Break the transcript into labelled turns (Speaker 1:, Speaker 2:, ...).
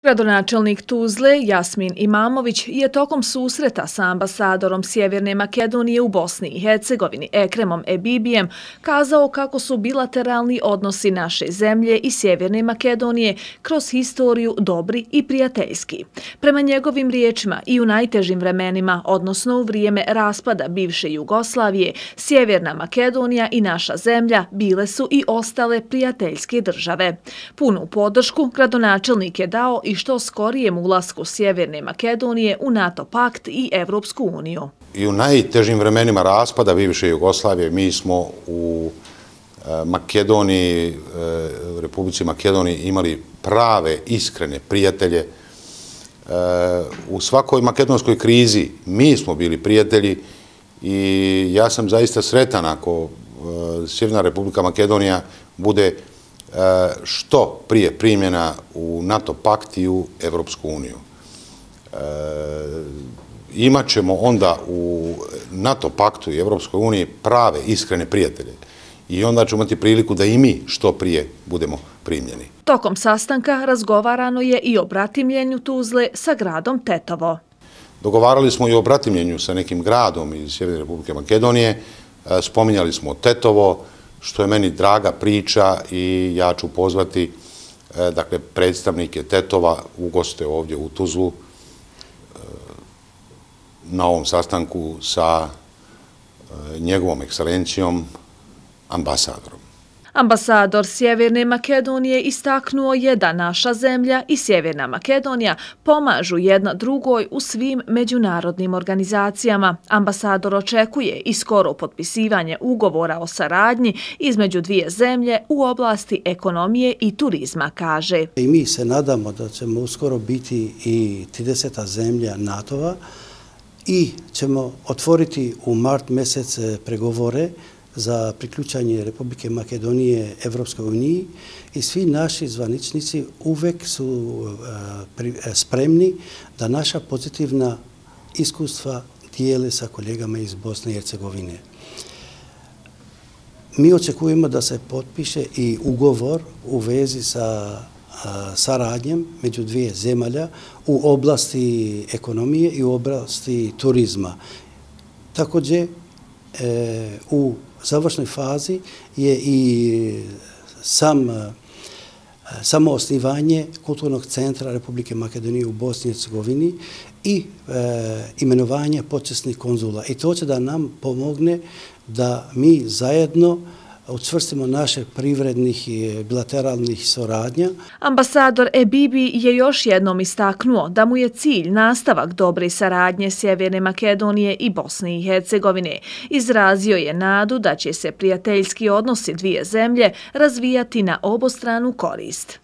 Speaker 1: Gradonačelnik Tuzle Jasmin Imamović je tokom susreta sa ambasadorom Sjeverne Makedonije u Bosni i Hercegovini Ekremom Ebibijem kazao kako su bilateralni odnosi naše zemlje i Sjeverne Makedonije kroz historiju dobri i prijateljski. Prema njegovim riječima i u najtežim vremenima, odnosno u vrijeme raspada bivše Jugoslavije, Sjeverna Makedonija i naša zemlja bile su i ostale prijateljske države. Punu podršku gradonačelnik je dao i što skorijem ulasku Sjeverne Makedonije u NATO pakt i Evropsku uniju.
Speaker 2: I u najtežim vremenima raspada bivše Jugoslavije mi smo u Makedoniji, Republici Makedoniji imali prave, iskrene prijatelje. U svakoj makedonskoj krizi mi smo bili prijatelji i ja sam zaista sretan ako Sjeverna Republika Makedonija bude što prije primljena u NATO pakt i u Evropsku uniju. Imat ćemo onda u NATO paktu i Evropskoj uniji prave, iskrene prijatelje i onda ćemo imati priliku da i mi što prije budemo primljeni.
Speaker 1: Tokom sastanka razgovarano je i o bratimljenju Tuzle sa gradom Tetovo.
Speaker 2: Dogovarali smo i o bratimljenju sa nekim gradom iz Sjeverne Republike Makedonije, spominjali smo Tetovo, što je meni draga priča i ja ću pozvati predstavnike Tetova u goste ovdje u Tuzlu na ovom sastanku sa njegovom ekscelencijom ambasadorom.
Speaker 1: Ambasador Sjeverne Makedonije istaknuo je da naša zemlja i Sjeverna Makedonija pomažu jedna drugoj u svim međunarodnim organizacijama. Ambasador očekuje i skoro potpisivanje ugovora o saradnji između dvije zemlje u oblasti ekonomije i turizma, kaže.
Speaker 3: I mi se nadamo da ćemo uskoro biti i 30. zemlja NATO-a i ćemo otvoriti u mart mjesec pregovore za priključanje Republike Makedonije Evropskoj uniji i svi naši zvaničnici uvek su spremni da naša pozitivna iskustva dijele sa kolegama iz Bosne i Hercegovine. Mi očekujemo da se potpiše i ugovor u vezi sa saradnjem među dvije zemalja u oblasti ekonomije i u oblasti turizma. Također, u završnoj fazi je i samo osnivanje Kulturnog centra Republike Makedonije u Bosni i Hercegovini i imenovanje počasnih konzula. I to će da nam pomogne da mi zajedno učvrstimo naše privrednih i bilateralnih suradnja.
Speaker 1: Ambasador Ebibi je još jednom istaknuo da mu je cilj nastavak dobre saradnje Sjeverne Makedonije i Bosne i Hercegovine. Izrazio je nadu da će se prijateljski odnosi dvije zemlje razvijati na obostranu korist.